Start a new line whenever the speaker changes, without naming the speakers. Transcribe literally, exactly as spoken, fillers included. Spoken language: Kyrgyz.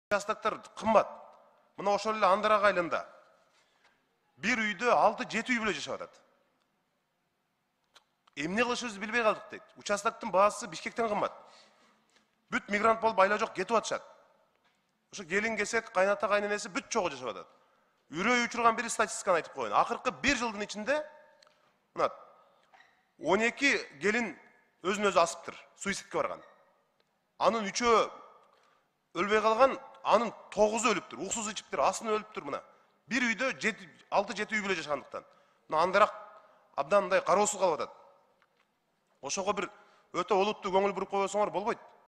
Участоктор кымбат. Мына ошол эле Андырак айылында бир үйдө алты жети үй бүлө жашап атат. Эмне кылышыбызды билбей калдык дейт. Участоктун баасы Бишкектен кымбат. Бүт мигрант болуп айла жок кетип атышат. Ошо келин кесек, кайната кайненеси бүт чогуу жашап атат. Үрөй учурган бир статистиканы айтып коеюн. Акыркы бир жылдын ичинде мына он эки келин өзүн өзү асыптыр, суицидке барган. Анын үчөө өлбөй калган, анын тогузу өлүптүр, уксуз ичиптир, асынып өлүптүр мына. Бир үйдө алты жети үй бүлө жашагандыктан. Мына Андырак абдан мындай кароосуз калып атат. Ошого бир өтө олуттуу көңүл буруп койбосоңор болбойт.